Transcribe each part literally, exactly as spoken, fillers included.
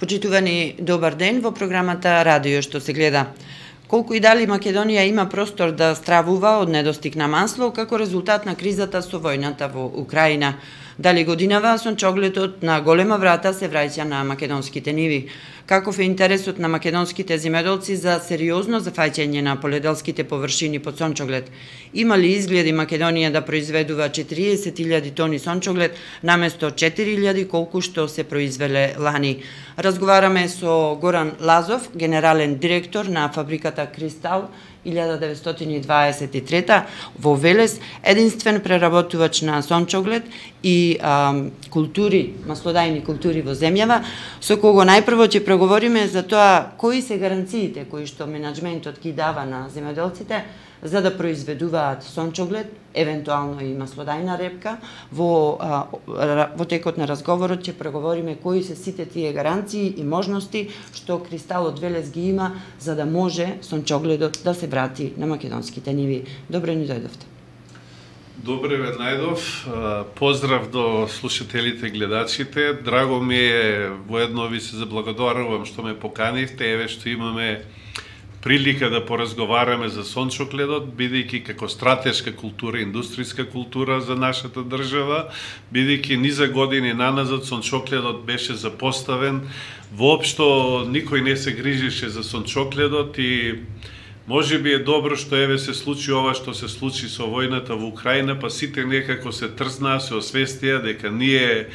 Почитувани, добар ден во програмата Радио што се гледа. Колку и дали Македонија има простор да стравува од недостиг на масло како резултат на кризата со војната во Украина? Дали годинава сончогледот на голема врата се враќа на македонските ниви? Каков е интересот на македонските земјоделци за сериозно зафаќање на поледелските површини под сончоглед? Има ли изгледи Македонија да произведува четириесет илјади тони сончоглед наместо четири илјади колку што се произвеле лани? Разговараме со Горан Лазов, генерален директор на фабриката Кристал илјада деветстотини дваесет и трета во Велес, единствен преработувач на сончоглед и а, култури, маслодајни култури во земјава, со кого најпрво ќе преговориме за тоа кои се гаранциите кои што менаџментот ги дава на земјоделците за да произведуваат сончоглед, евентуално и маслодајна репка. Во, а, во текот на разговорот ќе преговориме кои се сите тие гаранции и можности што Кристалот Велес ги има за да може сончогледот да се врати на македонските ниви. Добре ни дојдовте. Добре ве најдов. Поздрав до слушателите, гледачите. Драго ми е, воедно ви се заблагодарувам што ме поканивте, еве што имаме прилика да поразговараме за сончогледот, бидејќи како стратешка култура, индустријска култура за нашата држава, бидејќи низа години наназад сончогледот беше запоставен, воопшто никој не се грижеше за сончогледот и може би е добро што еве се случи ова што се случи со војната во Украина, па сите некако се трзнаа, се освестија дека ние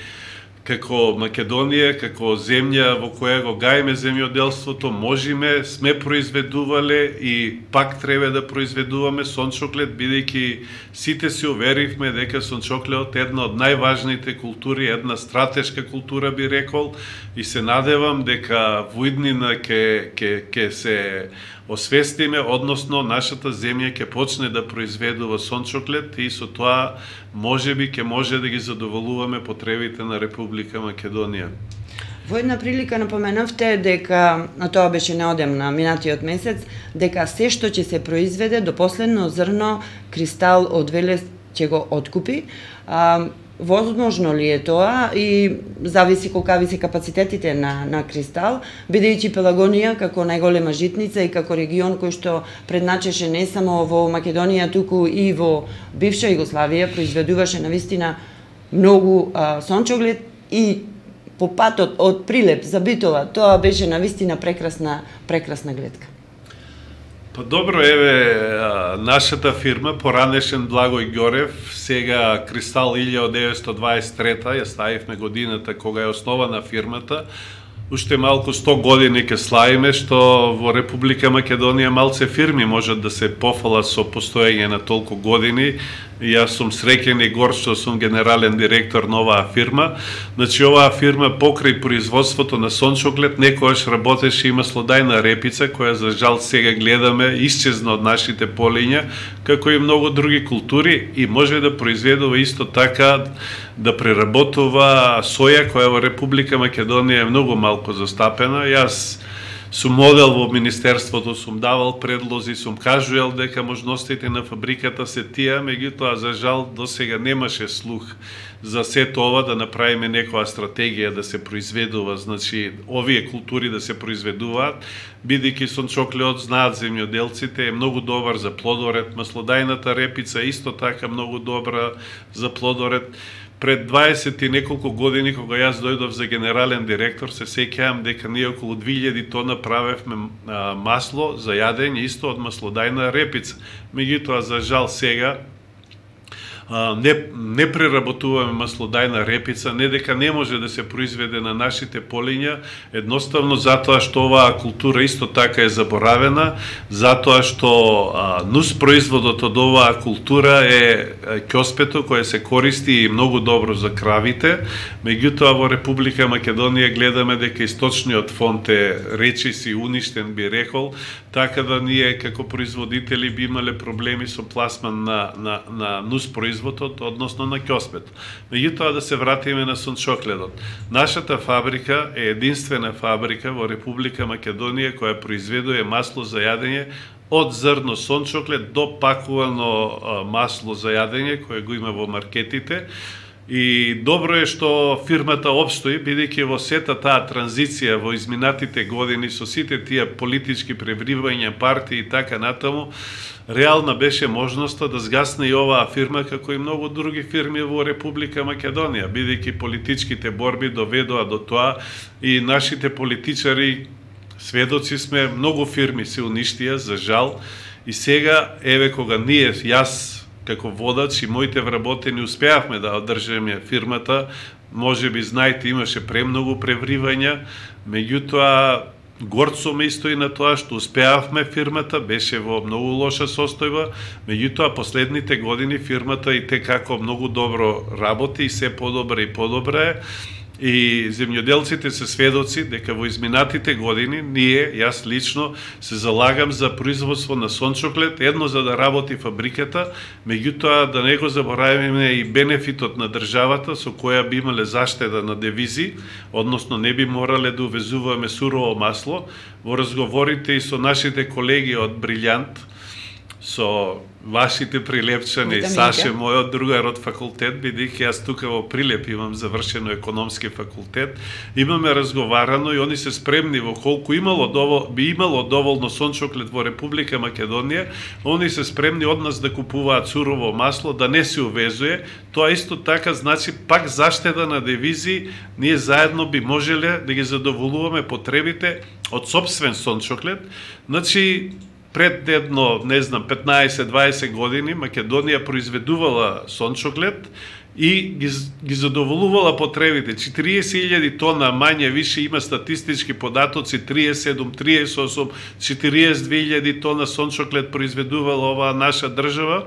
како Македонија, како земја во која го гајме земјоделството, можеме, сме произведувале и пак треба да произведуваме сончоглед, бидејќи сите се уверивме дека сончогледот е една од најважните култури, една стратешка култура би рекол, и се надевам дека во иднина ќе ќе ќе се освестиме, односно нашата земја ќе почне да произведува сончоглед и со тоа можеби ќе може да ги задоволуваме потребите на Република Македонија. Во една прилика напоменавте дека, а тоа беше неодамна, минатиот месец, дека се што ќе се произведе до последно зрно Кристал од Велес ќе го откупи. А, возможно ли е тоа и зависи колкави се капацитетите на, на Кристал, бидејќи Пелагонија како најголема житница и како регион кој што предначеше не само во Македонија, туку и во бивша Југославија, произведуваше навистина многу а, сончоглед и по патот од Прилеп за Битола, тоа беше навистина прекрасна, прекрасна гледка. Па добро, еве, нашата фирма, поранешен Благој Ѓорев, сега Кристал илјада деветстотини дваесет и трета, ја ставивме годината кога е основана фирмата, уште малку сто години ќе славиме, што во Република Македонија малце фирми можат да се пофалат со постоење на толку години. И јас сум среќен и горд што сум генерален директор на оваа фирма. Значи, оваа фирма покрај производството на сончоглед некогаш работеше и маслодајна репица, која за жал сега гледаме исчезна од нашите полиња, како и многу други култури, и може да произведува исто така да преработува соја, која во Република Македонија е многу малку застапена. Јас сум модел во Министерството, сум давал предлози, сум кажувал дека можностите на фабриката се тие, меѓутоа за жал до сега немаше слух за сето ова, да направиме некоја стратегија да се произведува, значи овие култури да се произведуваат, бидејќи сончогледот, знаат земјоделците, е многу добар за плодоред, маслодајната репица исто така многу добра за плодоред. Пред дваесет и неколку години, кога јас дојдов за генерален директор, се сеќавам дека ние околу две илјади тона правевме масло за јадење исто од маслодајна репица. Меѓутоа, за жал сега, не, не преработуваме маслодајна репица, не дека не може да се произведе на нашите полиња, едноставно затоа што оваа култура исто така е заборавена, затоа што а, нус производот од оваа култура е ќоспето кое се користи и многу добро за кравите, меѓутоа во Република Македонија гледаме дека источниот фонд е речиси уништен, би рекол, така да ние како производители би имале проблеми со пласман на, на, на нус производот, односно на ќоспето. Меѓутоа, да се вратиме на сончогледот. Нашата фабрика е единствена фабрика во Република Македонија која произведува масло за јадење од зрно сончоглед до пакувано масло за јадење кое го има во маркетите. И добро е што фирмата обстои, бидејќи во сета таа транзиција во изминатите години со сите тие политички превривања, партии и така натаму, реална беше можноста да згасне и оваа фирма, како и многу други фирми во Република Македонија, бидејќи политичките борби доведоа до тоа и нашите политичари, сведоци сме, многу фирми се уништија, за жал, и сега, еве кога ние, јас, како водач и моите вработени успеавме да одржиме фирмата, може би знаете, имаше премногу превривања, меѓутоа горцо ме истои на тоа што успеавме фирмата, беше во многу лоша состојба, меѓутоа последните години фирмата и те како многу добро работи и се подобра и подобра е. И земјоделците се сведоци дека во изминатите години ние, јас лично, се залагам за производство на сончоклет, едно за да работи фабриката, меѓутоа да не го заборавиме и бенефитот на државата со која би имале заштеда на девизи, односно не би морале да увезуваме сурово масло. Во разговорите и со нашите колеги од Брилјант, со вашите Прилепчани, Саше, мојот другар од факултет, бидејќи јас тука во Прилеп имам завршено економски факултет, имаме разговарано и они се спремни во колку имало довол, би имало доволно сончоклет во Република Македонија, они се спремни од нас да купуваат сурово масло, да не се увезуе. Тоа исто така значи пак заштеда на девизи, ние заедно би можеле да ги задоволуваме потребите од собствен сончоклет. Значи, пред едно, не знам, петнаесет-дваесет години Македонија произведувала сончоклет и ги, ги задоволувала потребите. четириесет илјади тона мање више има статистички податоци, триесет и седум, триесет и осум, четириесет и две илјади тона сончоклет произведувала оваа наша држава.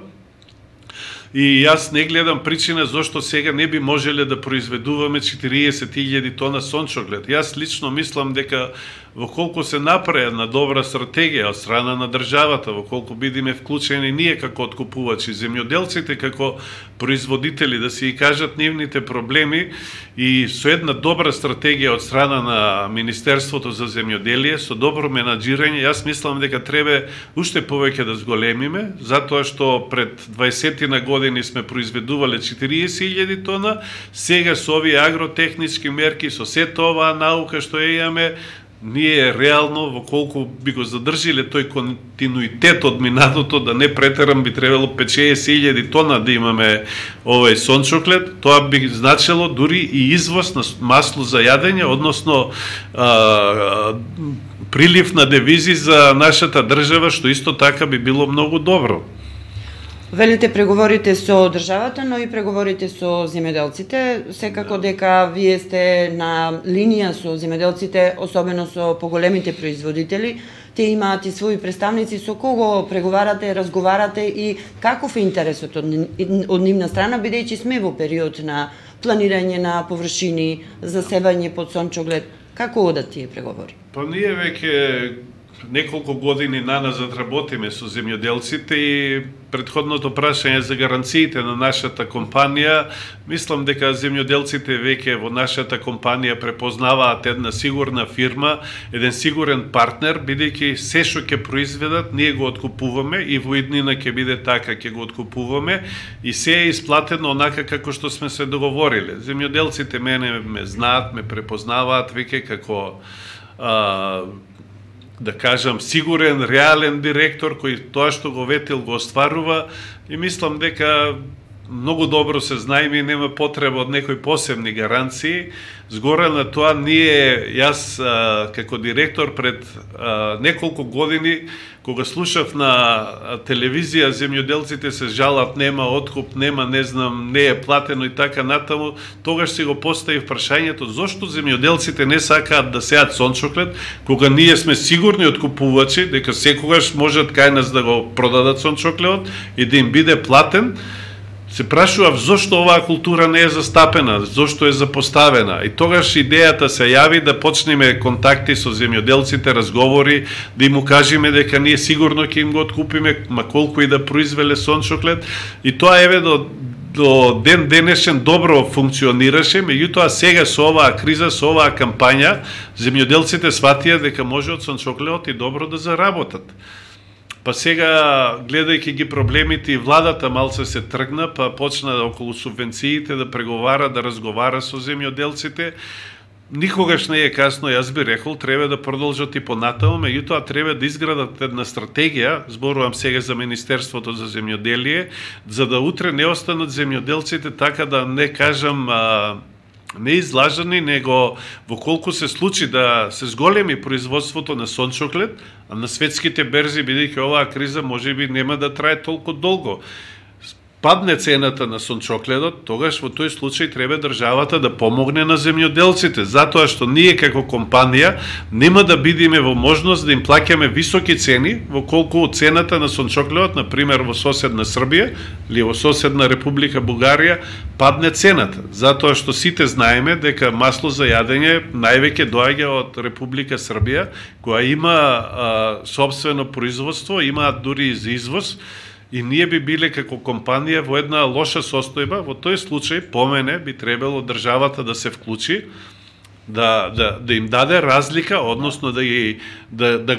И јас не гледам причина зошто сега не би можеле да произведуваме четириесет илјади тона сончоклет. Јас лично мислам дека во колку се направи една добра стратегија од страна на државата, во колку бидиме вклучени ние како откупувачи, земјоделците како производители, да си и кажат нивните проблеми и со една добра стратегија од страна на Министерството за земјоделие, со добро менаџирање, јас мислам дека треба уште повеќе да зголемиме, затоа што пред дваесет години сме произведувале четириесет илјади тона, сега со овие агротехнички мерки, со сета оваа наука што ја имаме, ние реално, во колку би го задржиле тој континуитет од минатото, да не претерам, би требало петдесет илјади тона да имаме овој сончоклет, тоа би значило дури и извоз на масло за јадење, односно а, прилив на девизи за нашата држава, што исто така би било многу добро. Велите преговорите со државата, но и преговорите со земјоделците. Секако дека вие сте на линија со земјоделците, особено со поголемите производители. Те имаат и своји представници, со кого преговарате, разговарате и каков е интересот од, од нивна страна, бидејќи сме во период на планирање на површини, засевање под сончоглед. Како одат тие преговори? Па ние веќе неколку години наназад работиме со земјоделците и претходното прашање за гаранциите на нашата компанија, мислам дека земјоделците веќе во нашата компанија препознаваат една сигурна фирма, еден сигурен партнер, бидејќи се што ќе произведат, ние го откупуваме и во иднина ќе биде така, ќе го откупуваме и се е исплатено онака како што сме се договориле. Земјоделците мене ме знаат, ме препознаваат веќе како а, да кажам, сигурен, реален директор, кој тоа што го ветил го остварува и мислам дека многу добро се знаеме и нема потреба од некои посебни гаранции. Згора на тоа, ние, јас а, како директор пред а, неколку години, кога слушав на телевизија, земјоделците се жалат, нема откуп, нема, не знам, не е платено и така натаму, тогаш си го поставив прашањето, зошто земјоделците не сакаат да сеат сончоклет, кога ние сме сигурни откупувачи, дека секогаш можат кај нас да го продадат сончоклетот и да им биде платен. Се прашував зошто оваа култура не е застапена, зошто е запоставена. И тогаш идејата се јави да почнеме контакти со земјоделците, разговори, да им кажеме дека ние сигурно ќе им го откупиме, ма колку и да произвеле сончоклет. И тоа еве до до ден денешен добро функционираше, меѓутоа сега со оваа криза, со оваа кампања, земјоделците сватија дека може од сончоклетот и добро да заработат. Па сега, гледајќи ги проблемите, и владата малце се тргна, па почна околу субвенциите да преговара, да разговара со земјоделците. Никогаш не е касно, јас би рекол, треба да продолжат и понатаму, меѓутоа треба да изградат една стратегија, зборувам сега за Министерството за земјоделие, за да утре не останат земјоделците така да не кажам а, не излажани, него во колку се случи да се зголеми производството на сончоклет, а на светските берзи, бидејќи оваа криза можеби нема да трае толку долго, падне цената на сончокледот, тогаш во тој случај треба државата да помогне на земјоделците, затоа што ние како компанија нема да бидеме во можност да им плаќаме високи цени, во колку цената на сончокледот, на пример во соседна Србија или во соседна Република Бугарија, падне цената, затоа што сите знаеме дека масло за јадење највеќе доаѓа од Република Србија, која има а, собствено производство, има дури и за извоз. И ние би биле како компанија во една лоша состојба. Во тој случај, по мене, би требало државата да се вклучи, да, да, да им даде разлика, односно да, ги, да, да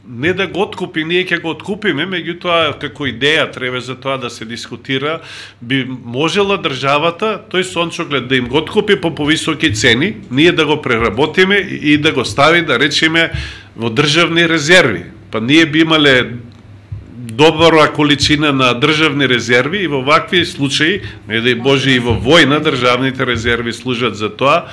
не да го откупи, ние ќе го откупиме, меѓутоа како идеја треба за тоа да се дискутира, би можела државата тој сончоклет да им го откупи по повисоки цени, ние да го преработиме и да го стави, да речеме, во државни резерви. Па ние би имале добра количина на државни резерви и во вакви случаи, не дај Боже и во војна, државните резерви служат за тоа,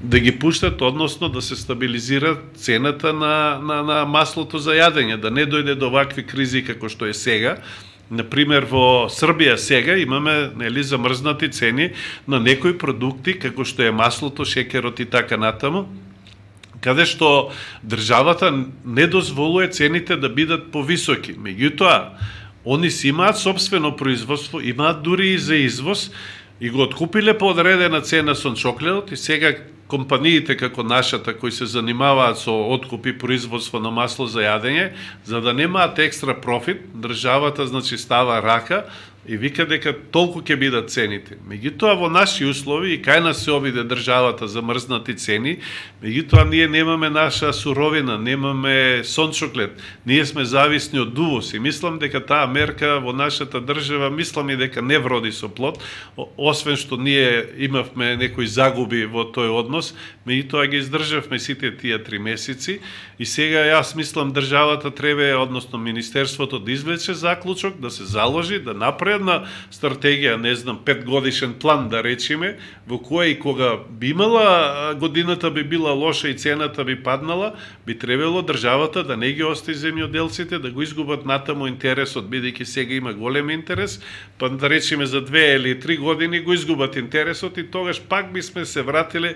да ги пуштат, односно да се стабилизира цената на, на, на маслото за јадење, да не дојде до вакви кризи како што е сега. Например, во Србија сега имаме, нели, замрзнати цени на некои продукти, како што е маслото, шекерот и така натаму, каде што државата не дозволува цените да бидат повисоки. Меѓутоа, они си имаат собствено производство, имаат дури и за извоз, и го откупиле по одредена цена сончокледот, и сега компаниите како нашата, кои се занимаваат со откуп и производство на масло за јадење, за да немаат екстра профит, државата, значи, става рака и вика дека толку ќе бидат цените. Меѓутоа, во наши услови, и кај нас се обиде државата за мрзнати цени, меѓутоа ние немаме наша суровина, немаме сончоклет, ние сме зависни од увоз, и мислам дека таа мерка во нашата држава, мислам и дека не вроди со плод, освен што ние имавме некои загуби во тој однос, меѓутоа ги издржавме сите тие три месеци, и сега јас мислам државата треба, односно Министерството, да извлече заклучок, да се заложи, да направи една стратегија, не знам, петгодишен план, да речеме, во која и кога би имала, годината би била лоша и цената би паднала, би требало државата да не ги остави земјоделците, да го изгубат натаму интересот, бидејќи сега има голем интерес, па да речеме за две или три години го изгубат интересот и тогаш пак би сме се вратиле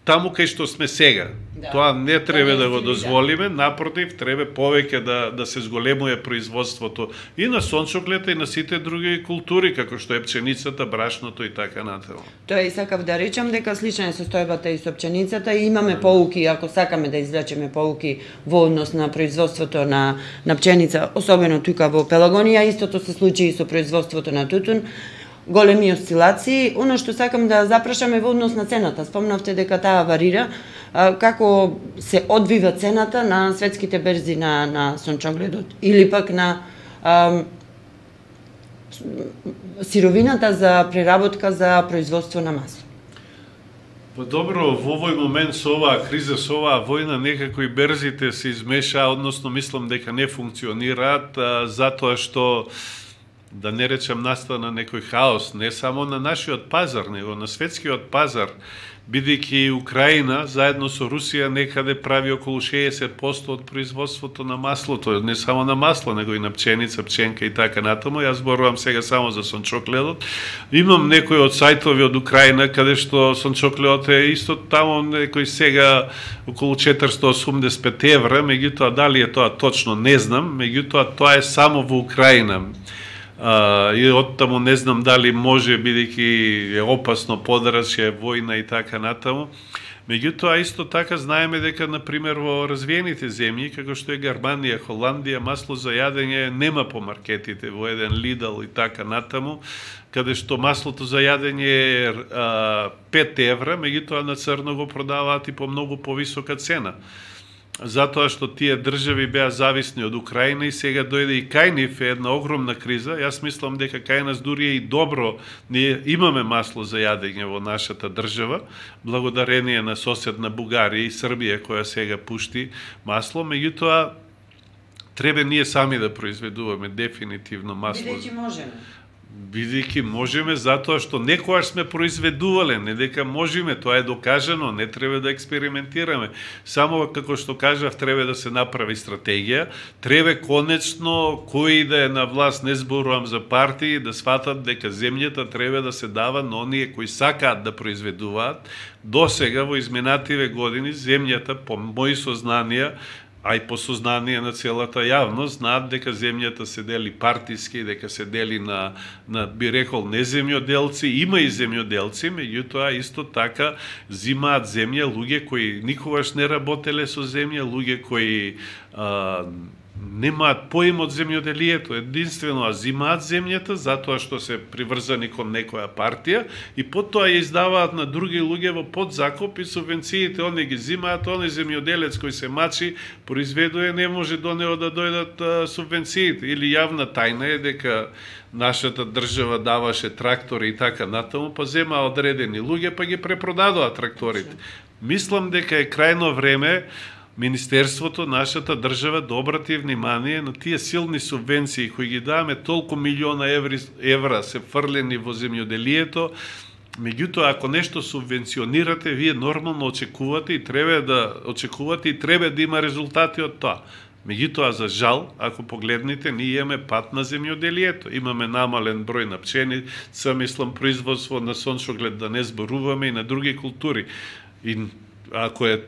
таму кај што сме сега. Да. Тоа не треба да го дозволиме, напротив, треба повеќе да, да се зголемува производството и на сончоклета и на сите други култури, како што е пченицата, брашното и така натаму. Тоа и сакав да речам дека слична е состојбата и со пченицата и имаме поуки, ако сакаме да извлечеме поуки во однос на производството на, на пченица, особено тука во Пелагонија, истото се случи и со производството на тутун. Големи осцилации. Оно што сакам да запрашаме во однос на цената. Спомнавте дека таа варира. Како се одвива цената на светските берзи на, на сончогледот? Или пак на ам, сировината за преработка за производство на масло? Па добро, во овој момент со оваа криза, со оваа војна, некако и берзите се измеша, односно мислам дека не функционираат, затоа што, да не речем, настана некој хаос, не само на нашиот пазар, него на светскиот пазар, бидејќи Украина заедно со Русија некаде прави околу шеесет проценти од производството на маслото, не само на масло, него и на пченица, пченка и така натаму. Јас зборувам сега само за сончокледот. Имам некои од сајтови од Украина каде што сончокледот е исто таму некој сега околу четиристотини и осумдесет и пет евра, меѓутоа дали е тоа точно не знам, меѓутоа тоа е само во Украина. Uh, и оттаму не знам дали може, бидејќи е опасно подрачје, војна и така натаму. Меѓутоа, исто така знаеме дека, например, во развиените земји, како што е Германија, Холандија, масло за јадење нема по маркетите, во еден Lidl и така натаму, каде што маслото за јадење е uh, пет евра, меѓутоа на црно го продаваат и по многу повисока цена. затоа што тие држави беа зависни од Украина и сега дојде и кај нив е една огромна криза. Јас мислам дека кај нас дури е и добро, ние имаме масло за јадење во нашата држава, благодарение на соседна Бугарија и Србија која сега пушти масло, меѓутоа треба ние сами да произведуваме дефинитивно масло. Бидејќи можеме. Бидејќи можеме, затоа што некојаш сме произведувале, не дека можеме, тоа е докажано, не треба да експериментираме. Само како што кажав, треба да се направи стратегија, треба конечно кој да е на власт, не зборувам за партии, да сватат дека земјата треба да се дава на оние кои сакаат да произведуваат. До сега во изминативе години земјата, по мои сознанија, а и по сознание на целата јавност, знаат дека земјата се дели партиски, дека се дели на, на би рекол, не земјоделци, има и земјоделци, меѓутоа исто така зимаат земја луѓе кои никогаш не работеле со земја, луѓе кои а, немаат поим од земјоделието, единствено а зимаат земјата затоа што се приврзани кон некоја партија и потоа ја издаваат на други луѓе во подзакуп и субвенциите они ги зимаат, оној земјоделец кој се мачи, произведува, не може до него да дојдат а, субвенциите. Или јавна тајна е дека нашата држава даваше трактори и така натаму, па зема одредени луѓе па ги препродадоа тракторите. Мислам дека е крајно време Министерството, нашата држава да обрати внимание на тие силни субвенции кои ги даваме, толку милиона еври, евра се фрлени во земјоделието. Меѓутоа, ако нешто субвенционирате, вие нормално очекувате и треба да очекувате и треба да има резултати од тоа. Меѓутоа, за жал, ако погледнете, ние имаме пат на земјоделието. Имаме намален број на пченица, мислам, производство на сончоглед, да не зборуваме, и на други култури. И ако е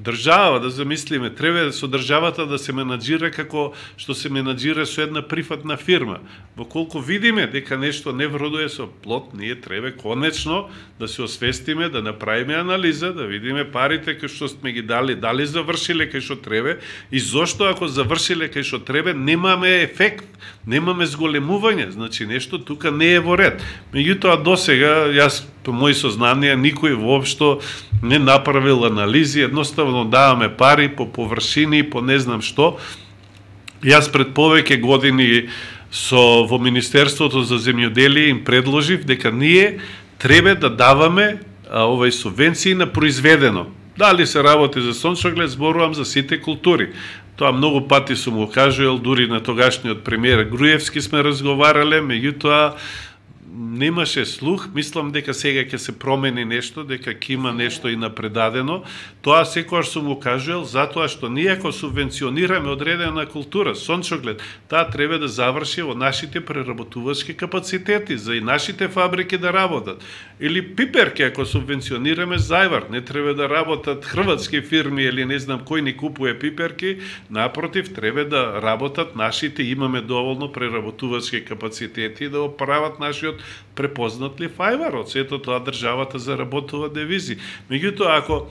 држава, да замислиме, треба со државата да се менаџира како што се менаџира со една прифатна фирма. Во колку видиме дека нешто не вродува со плод, ние треба конечно да се освестиме, да направиме анализа, да видиме парите кои што сме ги дали, дали завршиле кај што треба и зошто ако завршиле кај што треба немаме ефект, немаме зголемување, значи нешто тука не е во ред. Меѓутоа досега јас по мои сознанија никој воопшто не направил анализи, едноставно даваме пари по површини, по не знам што. Јас пред повеќе години со во Министерството за земјоделие им предложив дека ние треба да даваме а, овај субвенции на произведено. Дали се работи за сончоглед, зборувам за сите култури. Тоа многу пати сум го кажувал, дури на тогашниот премиер Груевски сме разговарале, меѓутоа немаше слух. Мислам дека сега ќе се промени нешто, дека ќе има нешто и напредадено. Тоа секогаш сум го кажувал, затоа што ние ако субвенционираме одредена култура, сончоглед, таа треба да заврши во нашите преработувачки капацитети, за и нашите фабрики да работат. Или пиперки, ако субвенционираме зајвар, не треба да работат хрватски фирми или не знам кој ни купува пиперки, напротив, треба да работат нашите, имаме доволно преработувачки капацитети да оправат нашиот препознатлив ајвар. Од сето тоа државата заработува девизи. Меѓутоа, ако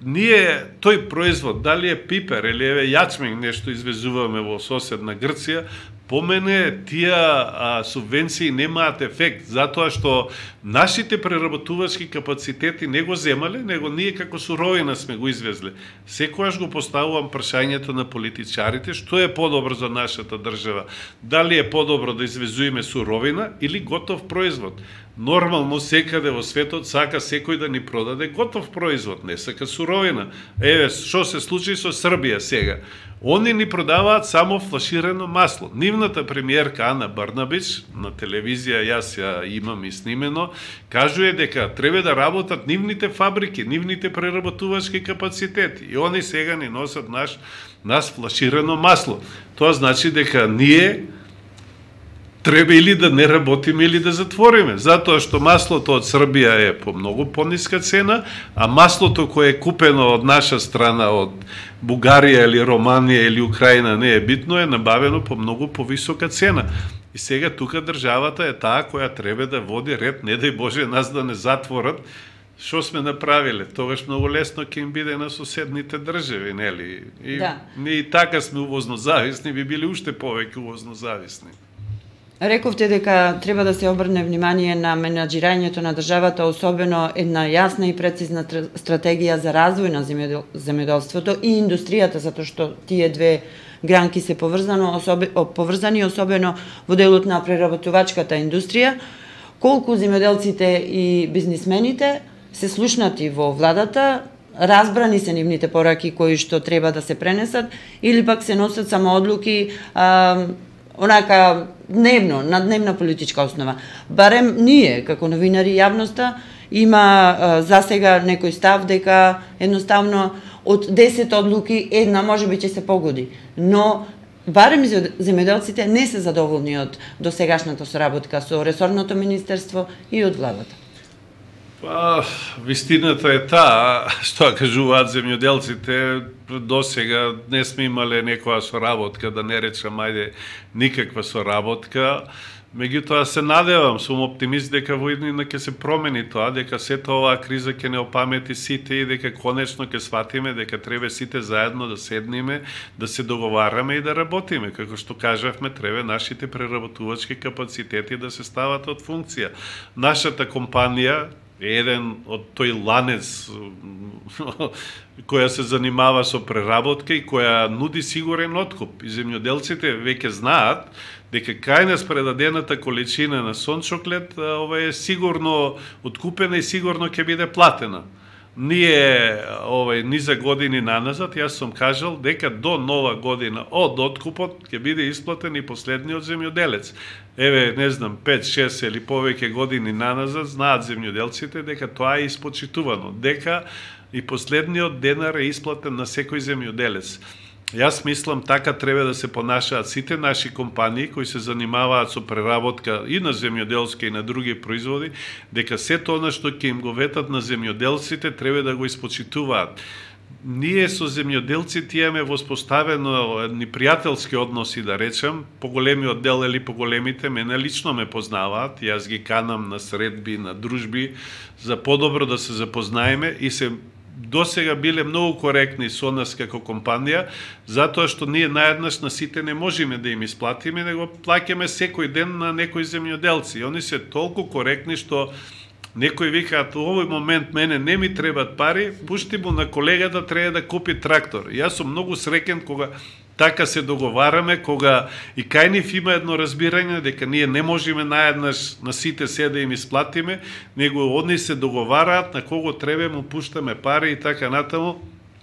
ние тој производ, дали е пипер или еве јачмин, нешто извезуваме во соседна Грција, по мене тие а, субвенции немаат ефект, затоа што нашите преработувачки капацитети не го земале, него ние како суровина сме го извезле. Секогаш го поставувам прашањето на политичарите, што е подобро за нашата држава? Дали е подобро да извезуеме суровина или готов производ? Нормално секаде во светот сака секој да ни продаде готов производ, не сака суровина. Еве, што се случи со Србија сега? Они ни продаваат само флаширано масло. Нивната премиерка Ана Брнабич на телевизија, јас ја имам и снимено, кажува дека треба да работат нивните фабрики, нивните преработувачки капацитети. И они сега ни носат наш, нас флаширано масло. Тоа значи дека ние треба или да не работиме или да затвориме, затоа што маслото од Србија е по многу пониска цена, а маслото кое е купено од наша страна, од Бугарија или Романија или Украина, не е битно, е набавено по многу повисока цена. И сега тука државата е таа која треба да води ред, не дај Боже нас да не затворат. Што сме направиле? Тогаш многу лесно ќе им биде на соседните држави, нели? И да. Ние и така сме увозно зависни, би били уште повеќе увозно зависни. Рековте дека треба да се обрне внимание на менаџирањето на државата, особено една јасна и прецизна стратегија за развој на земјоделството и индустријата, затоа што тие две гранки се поврзано, особе, поврзани, особено во делот на преработувачката индустрија. Колку земјоделците и бизнисмените се слушнати во владата, разбрани се нивните пораки кои што треба да се пренесат, или пак се носат само одлуки а, онака дневно, на дневна политичка основа. Барем ние, како новинари, јавноста, има а, засега некој став дека едноставно од десет одлуки една можеби ќе се погоди. Но барем земјоделците не се задоволни од досегашната соработка со ресорното министерство и од владата. Па, вистината е таа, што кажуваат земјоделците, досега не сме имале некоја соработка, да не речам, ајде, никаква соработка. Меѓутоа се надевам, сум оптимист дека во иднина ќе се промени тоа, дека сета оваа криза ќе не опамети сите и дека конечно ќе сватиме дека треба сите заедно да седниме, да се договараме и да работиме. Како што кажавме, треба нашите преработувачки капацитети да се стават од функција. Нашата компанија е еден од тој ланец која се занимава со преработка и која нуди сигурен откуп. И земјоделците веќе знаат дека кај нас предадената количина на сончоклет ова е сигурно откупена и сигурно ќе биде платена. Ние овај ни за години наназад, јас сум кажал дека до нова година од откупот ќе биде исплатен и последниот земјоделец. Еве, не знам, пет, шест или повеќе години наназад знаат земјоделците дека тоа е испочитувано, дека и последниот денар е исплатен на секој земјоделец. Јас мислам така треба да се понашаат сите наши компании кои се занимаваат со преработка и на земјоделски и на други производи, дека сето она што ќе им го ветат на земјоделците треба да го испочитуваат. Ние со земјоделците имаме воспоставено едни пријателски односи, да речем, поголемиот дел или поголемите мене лично ме познаваат, јас ги канам на средби, на дружби, за подобро да се запознаеме и се досега биле многу коректни со нас како компанија, затоа што ние наеднаш на сите не можеме да им исплатиме, него плаќаме секој ден на некои земјоделци. Они се толку коректни што некои викаат, во овој момент мене не ми требат пари, пушти му на колегата треба да купи трактор. Јас сум многу среќен кога така се договараме, кога и кај нив има едно разбирање дека ние не можеме наеднаш на сите се да им исплатиме, него одни се договараат на кого треба му пуштаме пари и така натаму.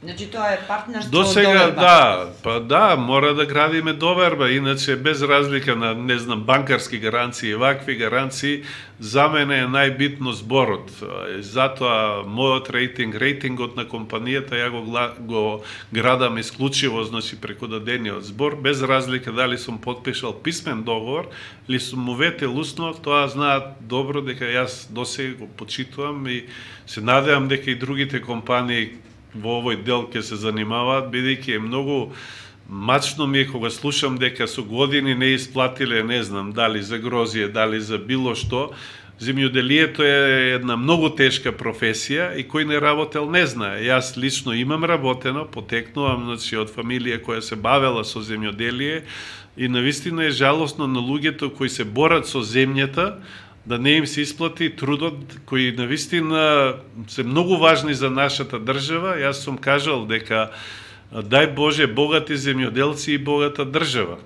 Значи тоа е партнерство до сега, доверба. Да, па да, мора да градиме доверба, иначе без разлика на, не знам, банкарски гаранции, вакви гаранции, за мене е најбитно зборот. Затоа мојот рейтинг, рейтингот на компанијата ја го, го градам исклучиво, значи преку дадениот збор, без разлика дали сум подпишал писмен договор или сум му ветил усно, тоа знаат добро дека јас досега го почитувам и се надевам дека и другите компании во овој дел ќе се занимаваат, бидејќи е многу мачно ми е кога слушам дека со години не исплатиле, не знам, дали за грозие, дали за било што. Земјоделието е една многу тешка професија и кој не работел не знае. Јас лично имам работено, потекнувам, значи, од фамилија која се бавела со земјоделие и навистина е жалосно на луѓето кои се борат со земјата, да не им се исплати трудот кои навистина се многу важни за нашата држава. Јас сум кажал дека дај Боже богати земјоделци и богата држава.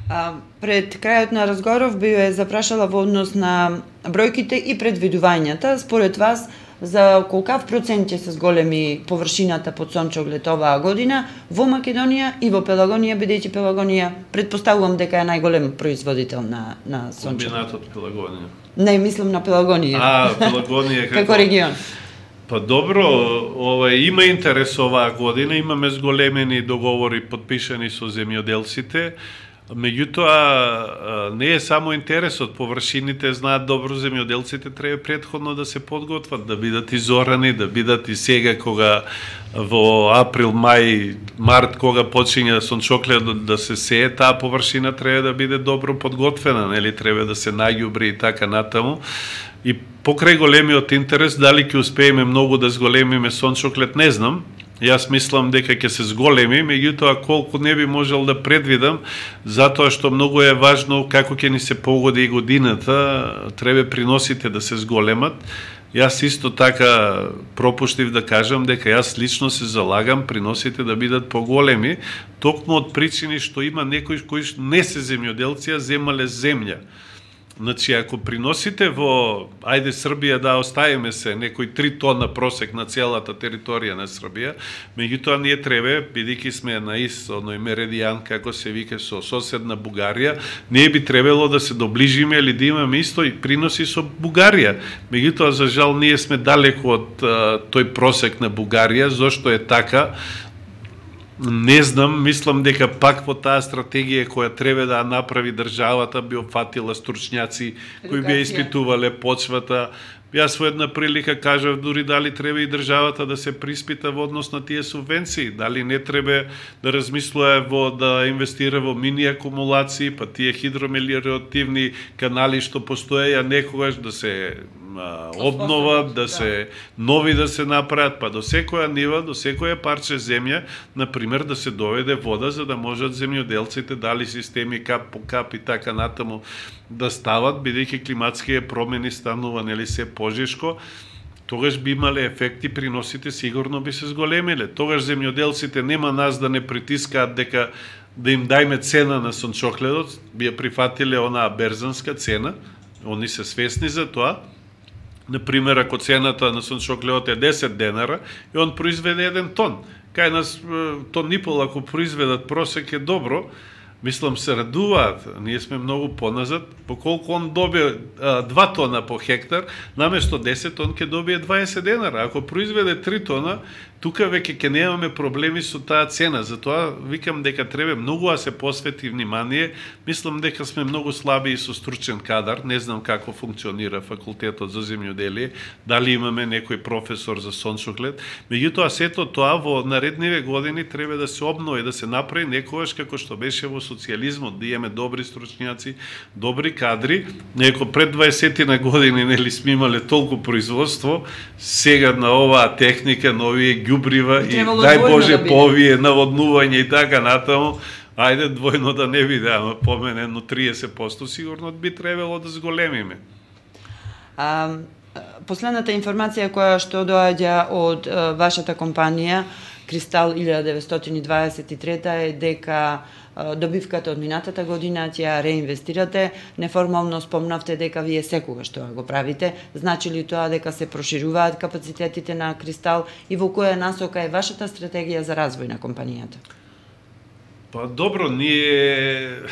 А, пред крајот на разговоров би ја запрашала во однос на бројките и предвидувањата. Според вас, за колкав процент ќе се зголеми површината под сончоглед оваа година во Македонија и во Пелагонија, бидејќи Пелагонија предпоставувам дека е најголем производител на на сончоглед. Комбинатот Пелагонија. Не, мислам на Пелагонија. А, Пелагонија како како регион. Па добро, ова има интерес оваа година, имаме зголемени договори подпишани со земјоделците. Меѓутоа, не е само интересот, површините знаат добро земјоделците, треба претходно да се подготват, да бидат изорани, да бидат и сега кога во април, мај, март, кога почиња сончоклет да се сее, таа површина треба да биде добро подготвена, нели, треба да се наѓубри и така натаму. И покрај големиот интерес, дали ќе успееме многу да зголемиме сончоклет, не знам, Јас мислам дека ќе се зголеми, меѓутоа колку не би можел да предвидам, затоа што многу е важно како ќе ни се погоди и годината, треба приносите да се зголемат. Јас исто така пропуштив да кажам дека јас лично се залагам приносите да бидат поголеми, токму од причини што има некои кои не се земјоделци, а земале земја. Значи, ако приносите во, ајде Србија да оставиме се, некои три тона просек на целата територија на Србија, меѓутоа ние треба, бидејќи сме на ист, оној меридијан, како се вика, со соседна Бугарија, ние би требало да се доближиме или да имаме исто и приноси со Бугарија. Меѓутоа, за жал, ние сме далеко од а, тој просек на Бугарија, зошто е така, не знам, мислам дека пак во таа стратегија која треба да направи државата би опфатила стручњаци кои би испитувале почвата. Јас во една прилика кажав дури дали треба и државата да се приспита во однос на тие субвенции, дали не треба да размислува во да инвестира во мини акумулации, па тие хидромелиоративни канали што постоеја некогаш да се обнова, да се нови да се направат, па до секоја нива, до секоја парче земја, например, да се доведе вода за да можат земјоделците дали системи кап по кап и така натаму да стават, бидејќи климатските промени станува нели се пожешко, тогаш би имале ефекти, приносите сигурно би се зголемиле. Тогаш земјоделците нема нас да не притискаат дека да им дајме цена на сончогледот, би ја прифатиле онаа берзанска цена, они се свесни за тоа. Например, ако цената на сончогледот е десет денара и он произведе еден тон, кај нас тон и пол ако произведат просек е добро, мислам се радуваат, ние сме многу поназад, поколку он добие а, два тона по хектар, наместо десет он ќе добие дваесет денара. Ако произведе три тона, тука веќе ќе немаме проблеми со таа цена. Затоа викам дека треба многу да се посвети внимание. Мислам дека сме многу слаби и со стручен кадар. Не знам како функционира факултетот за земјоделие, дали имаме некој професор за сончоглед. Меѓутоа сето тоа во наредниве години треба да се обнови, да се направи некогаш како што беше во социјализмот, да имаме добри стручњаци, добри кадри. Неко пред дваесет години нели сме имале толку производство, сега на оваа техника, на овие ѓубрива и дај Боже да по овие наводнување и така натаму, ајде двојно да не биде, ама поменено триесет проценти сигурно би требало да зголемиме. А, последната информација која што доаѓа од а, вашата компанија Кристал илјада деветстотини дваесет и трета е дека добивката од минатата година ќе ја реинвестирате. Неформално спомнавте дека вие секогаш тоа го правите. Значи ли тоа дека се прошируваат капацитетите на Кристал и во која насока е вашата стратегија за развој на компанијата? Па добро, ние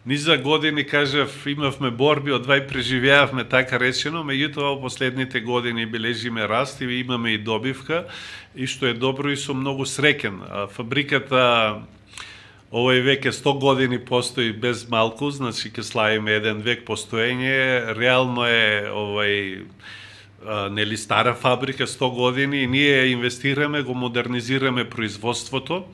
низа години, кажав, имавме борби, одвај преживеавме така речено, меѓутоа во последните години бележиме раст и имаме и добивка, и што е добро и сум многу среќен. Фабриката овој веќе сто години постои без малку, значи ќе славиме еден век постоење. Реално е овој нели стара фабрика, сто години, и ние инвестираме, го модернизираме производството.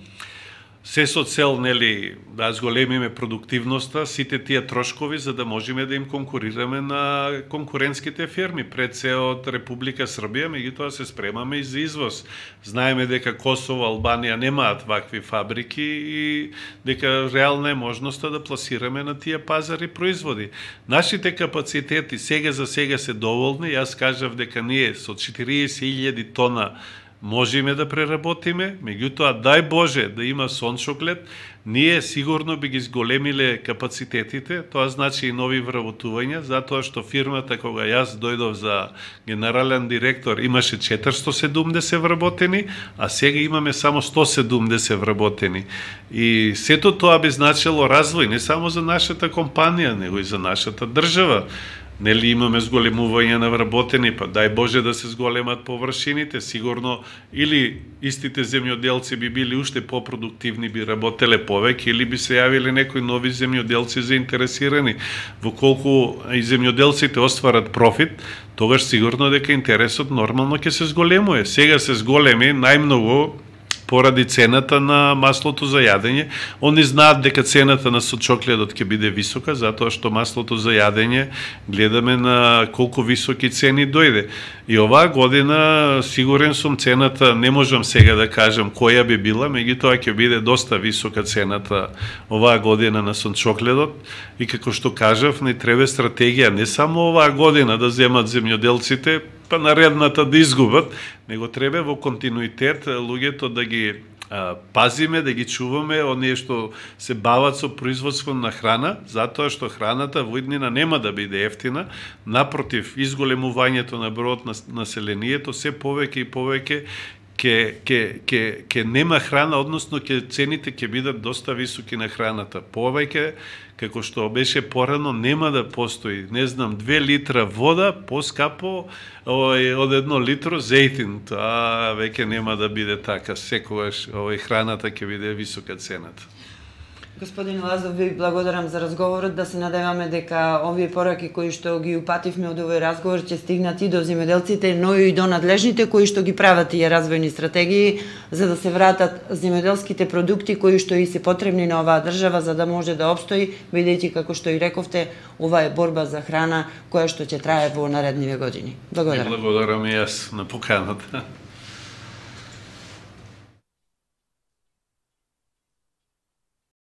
Се со цел нели да зголемиме продуктивноста, сите тие трошкови за да можеме да им конкурираме на конкурентските фирми, пред се од Република Србија, меѓутоа се спремаме и за извоз. Знаеме дека Косово, Албанија немаат вакви фабрики и дека реална е можноста да пласираме на тие пазари производи. Нашите капацитети сега за сега се доволни. Јас кажав дека ние со четириесет илјади тона можеме да преработиме, меѓутоа дај Боже да има сончоглед, ние сигурно би ги зголемиле капацитетите, тоа значи и нови вработувања, затоа што фирмата кога јас дојдов за генерален директор имаше четиристо седумдесет вработени, а сега имаме само сто седумдесет вработени. И сето тоа би значило развој не само за нашата компанија, него и за нашата држава. Нели имаме зголемување на вработени, па дај Боже да се зголемат површините, сигурно или истите земјоделци би били уште попродуктивни, би работеле повеќе, или би се јавиле некои нови земјоделци заинтересирани. Во колку и земјоделците остварат профит, тогаш сигурно дека интересот нормално ќе се зголемува. Сега се зголеми најмногу поради цената на маслото за јадење. Они знаат дека цената на сочокледот ќе биде висока, затоа што маслото за јадење гледаме на колку високи цени дојде. И оваа година, сигурен сум, цената, не можам сега да кажам која би била, меѓутоа ќе биде доста висока цената оваа година на сочокледот. И како што кажав, не треба стратегија не само оваа година да земат земјоделците, па наредната да изгубат, него треба во континуитет луѓето да ги а, пазиме, да ги чуваме, оние што се бават со производство на храна, затоа што храната во иднина нема да биде ефтина, напротив, изголемувањето на бројот на населението се повеќе и повеќе Ке, ке, ке, ке нема храна, односно ке цените ќе бидат доста високи на храната. Повеќе, како што беше порано, нема да постои, не знам, две литра вода поскапо од едно литро зејтин. Тоа веќе нема да биде така. Секогаш овој храната ќе биде висока цената. Господин Лазов, ви благодарам за разговорот, да се надеваме дека овие пораки кои што ги упативме од овој разговор ќе стигнат и до земјоделците, но и до надлежните кои што ги прават тие развојни стратегии за да се вратат земјоделските продукти кои што и се потребни на оваа држава за да може да опстои, бидејќи како што и рековте, ова е борба за храна која што ќе трае во наредниве години. Благодарам. Благодарам и јас на поканата.